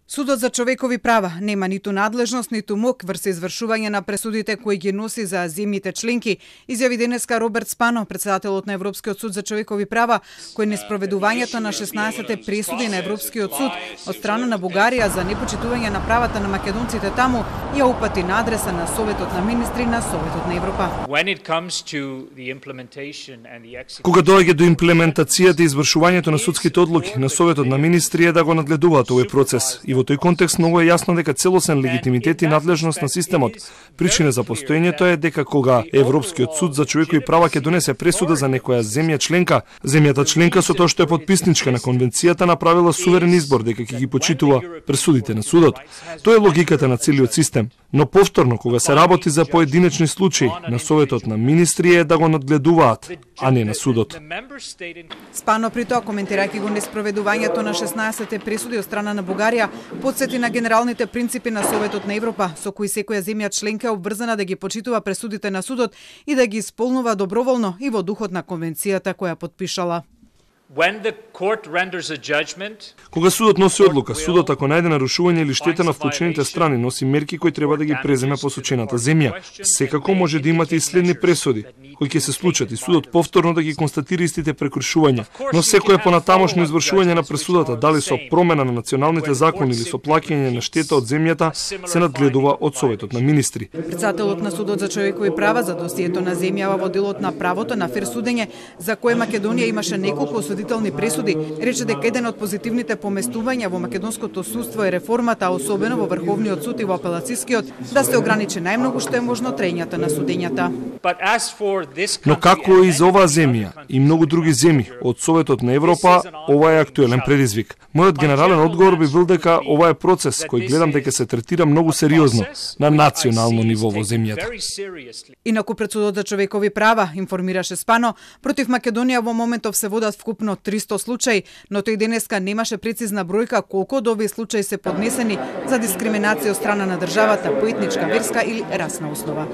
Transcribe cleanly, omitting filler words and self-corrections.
Судот за човекови права нема ниту надлежност, ниту мок врз извршување на пресудите кои ги носи за земјите членки, изјави денеска Роберт Спано, председателот на Европскиот суд за човекови права, кој неспроведувањето на 16-те пресуди на Европскиот суд од страна на Бугарија за непочитување на правата на македонците таму ја упати на адреса на Советот на министри на Советот на Европа. Кога доаѓа до имплементацијата и извршувањето на судските одлуки на Советот на министри е да го нагледуваат овој процес. И во тој контекст многу е јасно дека целосен легитимитет и надлежност на системот. Причина за постоењето е дека кога Европскиот суд за човекови права ќе донесе пресуда за некоја земја членка, земјата членка со тоа што е потписничка на конвенцијата направила суверен избор дека ќе ги почитува пресудите на судот. Тоа е логиката на целиот систем. Но повторно, кога се работи за поединечни случаи, на Советот на министри е да го надгледуваат, а не на судот. Спано при тоа, коментирајќи го неспроведувањето на 16-те пресуди од страна на Бугарија, подсети на генералните принципи на Советот на Европа, со кои секоја земја членка е обврзана да ги почитува пресудите на судот и да ги исполнува доброволно и во духот на конвенцијата која потпишала. Кога судот носи одлука, судот ако најде нарушување или штета на вклучените страни, носи мерки кои треба да ги преземе посочената земја. Секако може да имате и следни пресуди, кои ќе се случат и судот повторно да ги констатира истите прекршувања. Но секое понатамошно извршување на пресудата, дали со промена на националните закони или со плаќање на штета од земјата, се надгледува од Советот на министри. Председателот на Судот за човекови права за досието на земјава во делот на правото на фер судење, за кое Македонија имаше неколку осудителни пресуди, рече дека еден од позитивните поместувања во македонското судство е реформата, особено во Врховниот суд и во Апелацискиот, да се ограничи најмногу што е можно траењето на судењата. Но како и за оваа земја и многу други земји од Советот на Европа, ова е актуелен предизвик. Мојот генерален одговор би бил дека ова е процес кој гледам дека се третира многу сериозно на национално ниво во земјата. Инаку пред Судот за човекови права, информираше Спано, против Македонија во моментов се водат вкупно 300 случаи, но тој денеска немаше прецизна бројка колку од овие случаи се поднесени за дискриминација од страна на државата по етничка, верска или расна основа.